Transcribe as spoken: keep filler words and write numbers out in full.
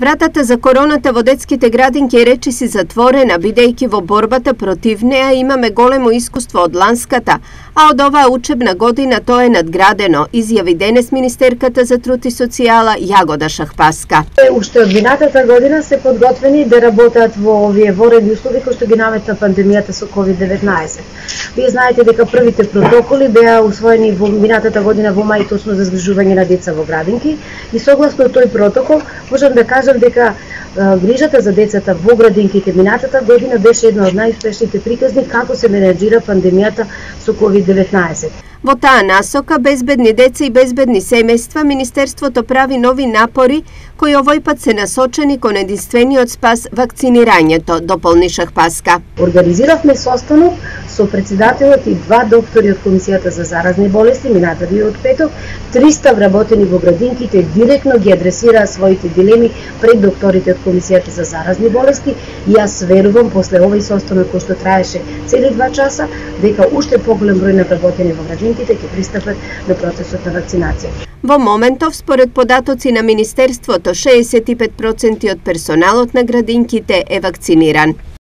Вратата за короната во детските градинки е речиси затворена, бидејќи во борбата против неа имаме големо искуство од ланската, а од оваа учебна година тоа е надградено, изјави денес министерката за труд и социјала Јагода Шахпаска. Уште од минатата година се подготвени да работат во овие воредни услови кои што ги намета пандемијата со ковид деветнаесет. Вие знаете дека првите протоколи беа усвоени во минатата година во мај, точно за згрижување на деца во градинки, и согласно тој протокол можам да кажам дека грижата за децата во градинките минатата година беше една од најуспешните приказни како се менеџира пандемијата со ковид деветнаесет. Во таа насока, безбедни деца и безбедни семејства, Министерството прави нови напори кои овој пат се насочени кон единствениот спас вакцинирањето, дополни Шахпаска. Организиравме состанок со председателот и два доктори од Комисијата за заразни болести минатавиот петок. триста вработени во градинките директно ги адресираа своите дилеми пред докторите од Комисијата за заразни болести и јас верувам после овој состанок кој што траеше цели два часа дека уште поголем број на вработени во градинките ќе пристапат до процесот на вакцинација. Во моментов, според податоци на Министерството, шеесет и пет проценти од персоналот на градинките е вакциниран.